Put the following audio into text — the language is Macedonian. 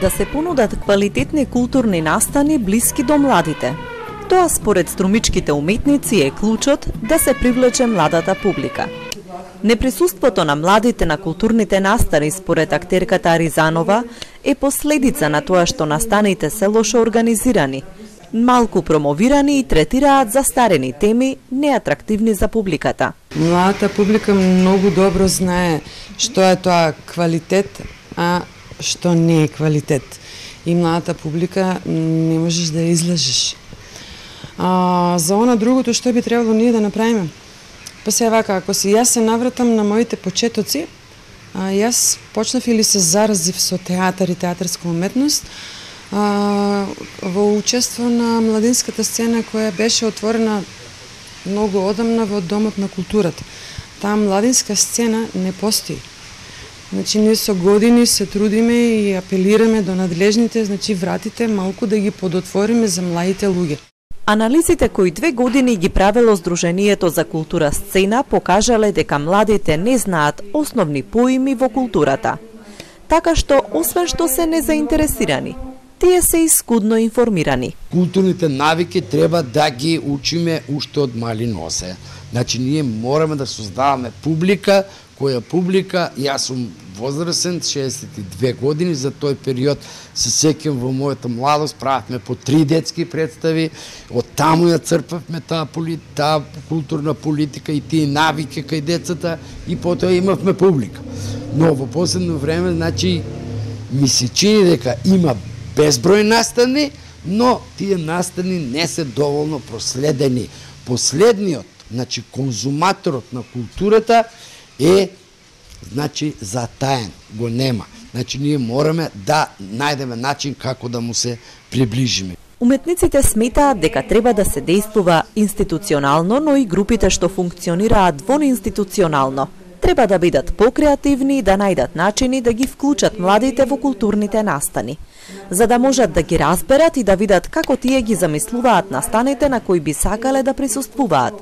Да се понудат квалитетни културни настани блиски до младите. Тоа според струмичките уметници е клучот да се привлече младата публика. Неприсуството на младите на културните настани според актерката Аризанова е последица на тоа што настаните се лошо организирани, малку промовирани и третираат застарени теми, неатрактивни за публиката. Младата публика многу добро знае што е тоа квалитет, а што не е квалитет. И младата публика не можеш да ја излажеш. За она другото што би требало ние да направиме? Па се вака, ако си јас се навратам на моите почетоци, јас почнав или се заразив со театар и театарска уметност, во учество на младинската сцена која беше отворена многу одамна во Домот на културата. Таа младинска сцена не постои. Значи, ние со години се трудиме и апелираме до надлежните, значи вратите малку да ги подотвориме за младите луѓе. Анализите кои 2 години ги правело Сдруженијето за култура сцена покажале дека младите не знаат основни поими во културата. Така што, освен што се незаинтересирани, тие се и скудно информирани. Културните навики треба да ги учиме уште од мали носе. Значи, ние мораме да создаваме публика, која публика, јас сум возрастен, 62 години, за тој период се сеќам во мојата младост, правевме по 3 детски представи, од таму ја црпавме таа културна политика и тие навики кај децата и потоа имавме публика. Но во последно време, значи, ми се чини дека има безброј настани, но тие настани не се доволно проследени. Последниот, значи конзуматорот на културата е, значи, затаен, го нема. Значи, ние мораме да најдеме начин како да му се приближиме. Уметниците сметаат дека треба да се действува институционално, но и групите што функционираат вонинституционално треба да бидат покреативни и да најдат начини да ги вклучат младите во културните настани, за да можат да ги разберат и да видат како тие ги замислуваат настаните на кои би сакале да присуствуваат.